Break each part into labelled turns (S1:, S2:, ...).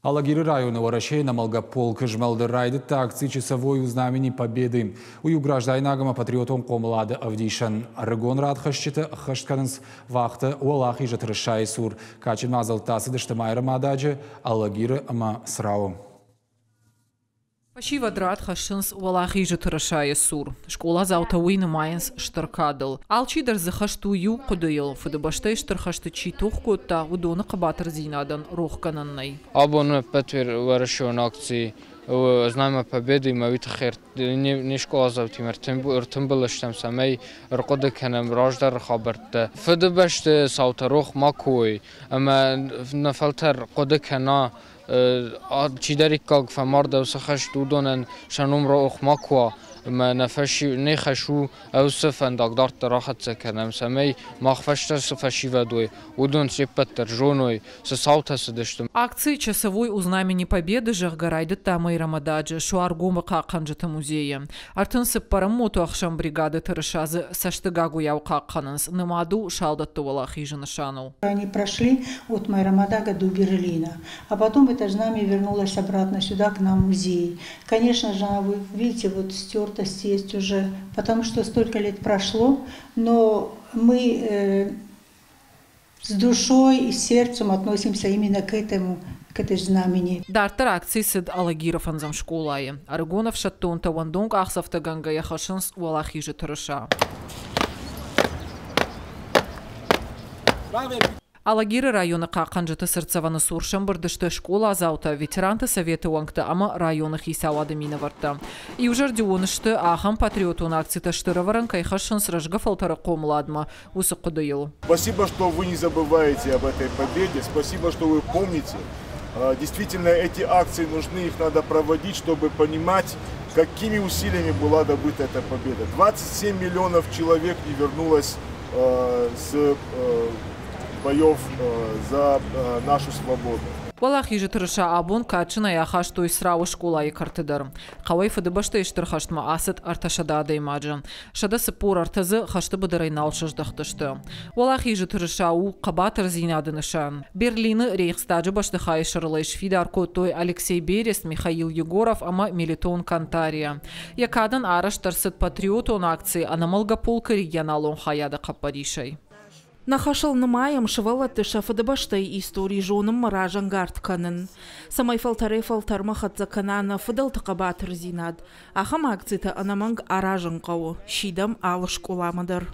S1: Алагиры районы Уӕрӕсейы ӕнӕмӕлгӕ полкы змӕлды райдыдта акци «Часовой у знамени Победы». Уый у граждайнаг ӕмӕ патриотон хъомылады ӕвдисӕн. Ӕрыгон радхӕсджытӕ ӕххӕст кӕнынц вахтӕ Уӕлахизы тырысайы цур. Кадджын мадзӕлттӕ ацыдысты Майрӕмададжы, Алагиры ӕмӕ Црауы.
S2: Фӕсивӕд рад хӕссынц Уӕлахизы тырысайы цур. Скъоладзаутӕ уый нымайынц стыр кадыл. Алчидӕр дзы хӕст у иу хъуыдыйыл, Фыдыбӕстӕйы Стыр хӕсты чи тох кодта, уыдоны хъӕбатырдзинадӕн рохгӕнӕн нӕй.
S3: Абон ӕппӕтуӕрӕсеон акци «Знамя Победы»-мӕ уый тыххӕй не скъоладзаутимӕ ӕртымбыл стӕм, цӕмӕй ӕрхъуыды кӕнӕм раздӕры хабӕрттӕ. Фыдыбӕсты цаутӕ рох макуы уой ӕмӕ нӕ фӕлтӕр хъуыды кӕна, чидӕриддӕр фӕмард уыцы хӕст, уыдонӕн сӕ ном рох макуы уа ӕмӕ нӕ не хӕс у уыцы фӕндаг дарддӕр ахӕццӕ кӕнӕм, цӕмӕй мах фӕстӕ цы фӕсивӕд уой, уыдон се ппӕт дӕр зоной, цы цаутӕ цыдысты.
S2: Акци «Часовой у знамени Победы», зӕгъгӕ, райдыдта Майрӕмададжы Суаргомы хъахъхъӕнджыты музейы. 34-ӕм мотоӕхсӕн бригады тырыса дзы цӕстыгагуыйау хъахъхъӕнынц, нымад у салдӕтты уӕлахизы нысаныл.
S4: Они прошли от Майрамадага до Берлина. А потом это знамя вернулось обратно сюда, к нам в музей. Конечно же, вы видите, вот стертость есть уже, потому что столько лет прошло, но мы с душой и сердцем относимся именно к этому, к этой знамени.
S2: Дарддӕр акци цыд Алагиры фӕндзӕм скъолайы. Ӕрыгон ӕфсӕддонтӕ уӕндон къахдзӕфтӕгӕнгӕйӕ хӕссынц Уӕлахизы тырыса. Алагиры районы хъахъхъӕнджыты цыртдзӕвӕны цур сӕмбырд сты скъоладзаутӕ, ветеранты советы уӕнгтӕ ӕмӕ районы хицауады минӕвӕрттӕ. Иузӕрдион сты, ахӕм патриотон акцитӕ стыр ӕвӕрӕн кӕй хӕссынц рӕзгӕ фӕлтӕры хъомыладмӕ, уыцы хъуыдыйыл.
S5: Спасибо, что вы не забываете об этой победе. Спасибо, что вы помните. Действительно, эти акции нужны, их надо проводить, чтобы понимать, какими усилиями была добыта эта победа. 27 миллионов человек не вернулось с боев за нашу свободу.
S2: Уӕлахизы тырыса абон кадджынӕй ахастой Црауы скъолайы кӕрты дӕр. Хъӕуӕй Фыдыбӕстӕйы Стыр хӕстмӕ ацыд 300 адӕймаджы. 143 дзы хӕсты быдырӕй нал сыздӕхтысты. Уӕлахизы тырыса у хъӕбатырдзинады нысан. Берлины Рейхстаджы бӕстыхайы сӕрыл ӕй сфидар кодтой Алексей Берест, Михаил Егоров ӕмӕ Мелитон Кантария. Йӕ кадӕн арӕзт ӕрцыд патриотон акци Ӕнӕмӕлгӕ полкы регионалон хайады хъӕппӕрисӕй.
S6: Нӕ хӕсыл нымайӕм сывӕллӕтты сӕ фыдыбӕстӕйы истори зонынмӕ разӕнгард кӕнын, цӕмӕй фӕлтӕрӕй-фӕлтӕрмӕ хӕццӕ кӕна нӕ фыдӕлты хъӕбатырдзинад. Ахӕм акцитӕ ӕнӕмӕнг аразын хъӕуы, сидӕм алы скъоламӕ дӕр.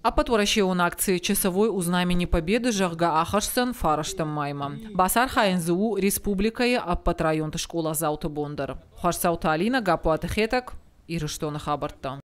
S2: Ӕппӕтуӕрӕсеон акци «Часовой у знамени Победы», зӕгъгӕ, ахӕсдзӕн 9 маймӕ. Бацархайын дзы у республикӕйы ӕппӕт районты скъоладзауты бон дӕр. Хуасдзауты Алинӕ, Гаппуаты Хетӕг, Ирыстоны хабӕрттӕ.